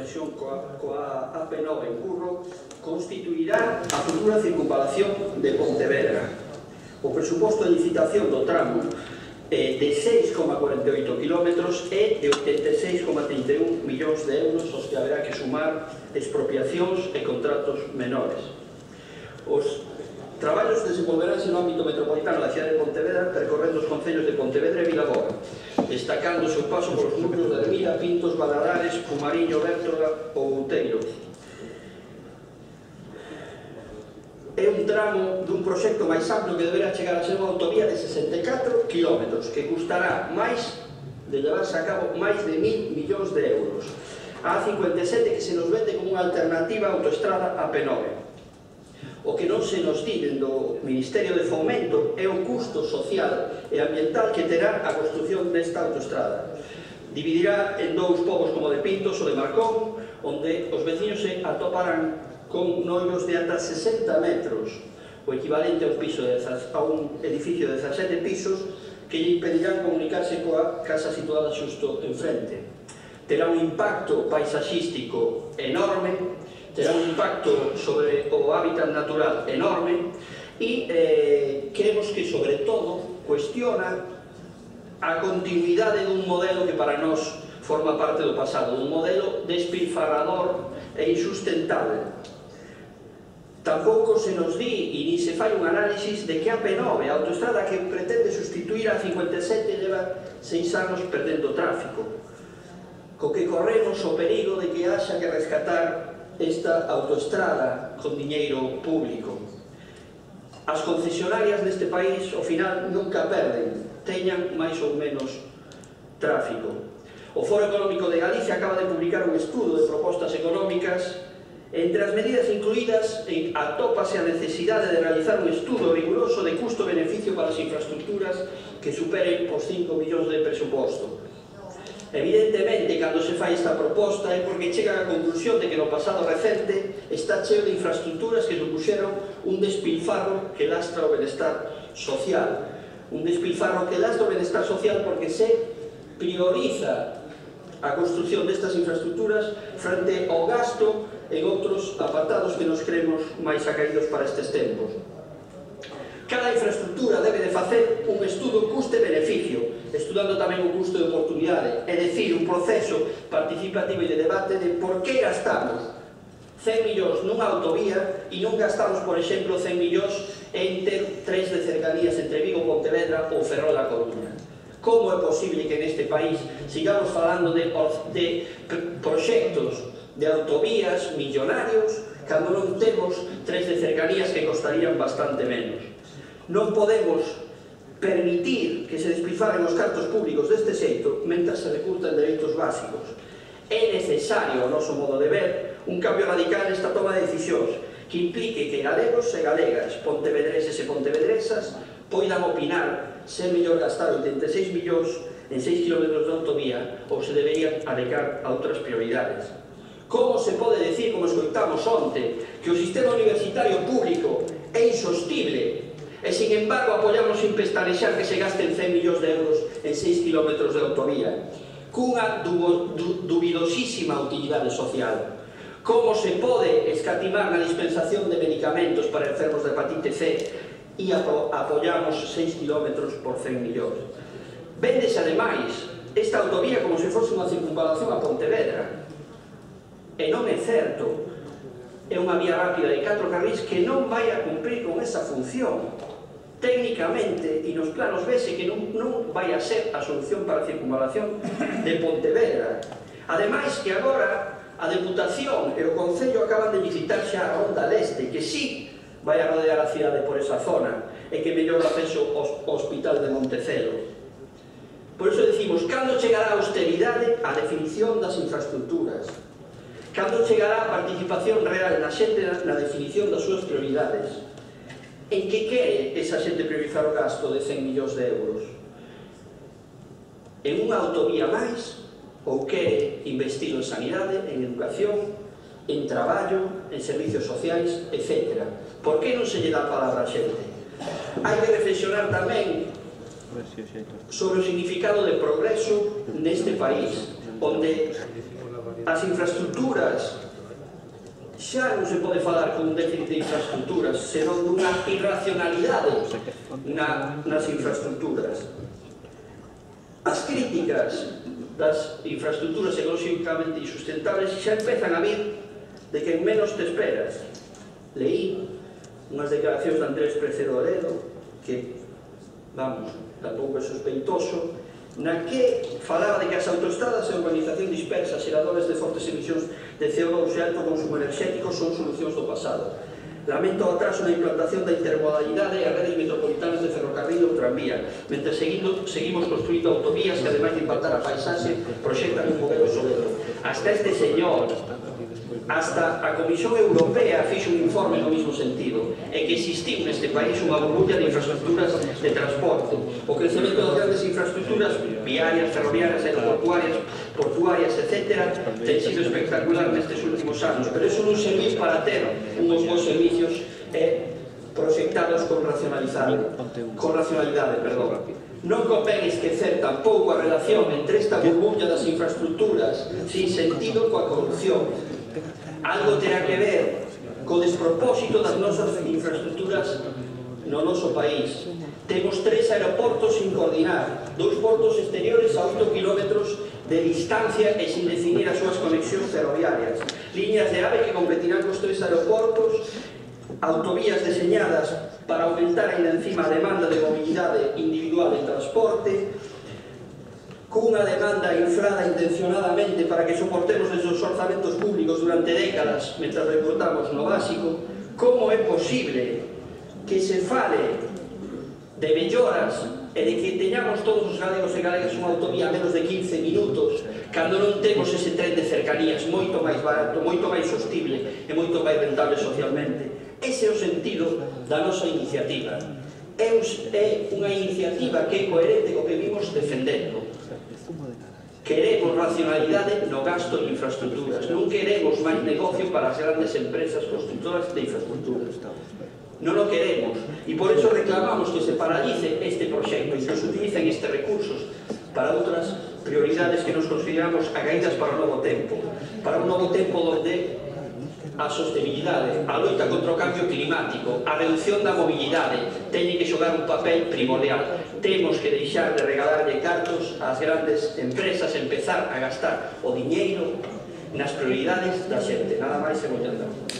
conexión coa AP9 en Curro constituirá a futura circunvalación de Pontevedra. O presuposto de licitación do tramo de 6,48 km é de 86,31 millóns de euros, aos que haberá que sumar expropiacións e contratos menores. Os traballos desenvolveránse no ámbito metropolitano da cidade de Pontevedra, percorrendo os concellos de Pontevedra e Vilaboa, destacando o seu paso polos núcleos de Ermida, Pintos, Valadares, Pumariño, Bértola ou Outeiro. É un tramo dun proxecto máis amplo que deberá chegar a ser unha autovía de 64 km, que custará máis de levarse a cabo máis de 1.000 millóns de euros. A A57 que se nos vende como unha alternativa á autoestrada AP9. O que non se nos di do Ministerio de Fomento é o custo social e ambiental que terá a construción desta autoestrada. Dividirá en dous povos como de Pintos ou de Marcón, onde os veciños se atoparán con noivos de ata 60 metros, o equivalente a un edificio de 17 pisos, que lle impedirán comunicarse coa casa situada xusto enfrente. Terá un impacto paisaxístico enorme, terá un impacto sobre o hábitat natural enorme e creemos que, sobre todo, cuestiona a continuidade dun modelo que para nós forma parte do pasado, un modelo despilfarrador e insustentable. Tampouco se nos di e ni se fai un análisis de que a AP9, a autoestrada que pretende sustituir a 57, leva 6 anos perdendo tráfico, co que corremos o perigo de que haxa que rescatar esta autoestrada con diñeiro público. As concesionarias deste país, ao final, nunca perden, teñan máis ou menos tráfico. O Foro Económico de Galicia acaba de publicar un estudo de propostas económicas. Entre as medidas incluídas atópase a necesidade de realizar un estudo riguroso de custo-beneficio para as infraestructuras que superen os 5 millóns de presuposto. Evidentemente, cando se fai esta proposta é porque chega á conclusión de que no pasado recente está cheo de infraestructuras que supuxeron un despilfarro que lastra o benestar social. Un despilfarro que lastra o benestar social porque se prioriza a construción destas infraestructuras frente ao gasto en outros apartados que nos creemos máis acaídos para estes tempos. Cada infraestructura debe de facer un estudo custe-beneficio, estudando tamén o custo de oportunidade, é dicir, un proceso participativo e de debate de por que gastamos 100 millóns nunha autovía e non gastamos, por exemplo, 100 millóns en ter tres de cercanías entre Vigo, Pontevedra ou Ferrol da Coruña. Como é posible que neste país sigamos falando de proxectos de autovías millonarios cando non temos tres de cercanías que costarían bastante menos? Non podemos permitir que se despilfarren os cartos públicos deste xeito mentras se recurtan dereitos básicos. É necesario, ao noso modo de ver, un cambio radical nesta toma de decisións que implique que galegos e galegas, pontevedreses e pontevedresas poidan opinar se é mellor gastar 86 millóns en 6 km de autovía ou se deberían adecar a outras prioridades. Como se pode decir, como escoitamos onte, que o sistema universitario público é insostible e, sin embargo, apoiamos sin pestanexar que se gasten 100 millóns de euros en 6 km de autovía, cunha duvidosísima utilidade social? Como se pode escatimar na dispensación de medicamentos para enfermos de hepatite C e apoiamos 6 km por 100 millóns? Véndese, ademais, esta autovía como se fose unha circunvalación a Pontevedra. E non é certo. É unha vía rápida de 4 carrís que non vai a cumprir con esa función. Técnicamente, e nos planos vese que non vai a ser a solución para a circunvalación de Pontevedra. Ademais que agora a Deputación e o Concello acaban de licitar xa a Ronda Leste, que sí vai a rodear a cidade por esa zona e que mellor o acceso ao Hospital de Montecelo. Por iso decimos, cando chegará a austeridade a definición das infraestructuras? Cando chegará a participación real na xente na definición das súas prioridades? En que quere esa xente priorizar o gasto de 100 millóns de euros? En unha autovía máis? Ou quere investir en sanidade, en educación, en traballo, en servicios sociais, etc. Por que non se lle dá a palabra a xente? Hai que reflexionar tamén sobre o significado de progreso neste país, onde as infraestructuras, xa non se pode falar con un déficit de infraestructuras, senón dunha irracionalidade nas infraestructuras. As críticas das infraestructuras ecolóxicamente insustentables xa empezan a vir de que menos te esperas. Leí unhas declaracións de Andrés Precedo Oredo, que, vamos, tampouco é sospeitoso, na que falaba de que as autoestradas e a urbanización dispersa, xeradores de fortes emisións de CO2 e alto consumo enerxético son solucións do pasado. Lamento o atraso na implantación da intermodalidade e as redes metropolitanas de ferrocarril ou tranvía, mentre seguimos construindo autovías que, ademais de impactar a paisaxe, proxectan un modelo obsoleto. Hasta este señor, hasta a Comisión Europea fixo un informe no mesmo sentido, e que existiu neste país unha burbulla de infraestructuras de transporte. O crecemento das grandes infraestructuras viarias, ferroviarias, portuarias, etc., ten sido espectacular nestes últimos anos, pero iso non serviu para ter unhos bons servicios proxectados con racionalidade. Non convén esquecer tampouco a relación entre esta burbulla das infraestructuras sin sentido coa corrupción. Algo terá que ver co despropósito das nosas infraestructuras no noso país. Temos 3 aeroportos sin coordinar, 2 portos exteriores a 8 kilómetros de distancia e sin definir as súas conexións ferroviarias, líneas de AVE que competirán cos 3 aeroportos, autovías deseñadas para aumentar ainda encima a demanda de mobilidade individual en transporte, cunha demanda inflada intencionadamente para que soportemos esos orzamentos públicos durante décadas mentre recortamos no básico. Como é posible que se fale de melloras e de que teñamos todos os galegos e galegas unha autovía a menos de 15 minutos cando non temos ese tren de cercanías moito máis barato, moito máis sostible e moito máis rentable socialmente? Ese é o sentido da nosa iniciativa. É unha iniciativa que é coherente co que vimos defendendo. Queremos racionalidade no gasto de infraestructuras, non queremos máis negocio para as grandes empresas constructoras de infraestructuras. Non o queremos, e por eso reclamamos que se paralice este proxecto e que se utilicen estes recursos para outras prioridades que nos consideramos acaídas para o novo tempo, para un novo tempo onde a sostenibilidade, a loita contra o cambio climático, a reducción da mobilidade teñen que xogar un papel primordial. Temos que deixar de regalarlle cartos ás grandes empresas e empezar a gastar o diñeiro nas prioridades da xente. Nada máis e moitas gracias.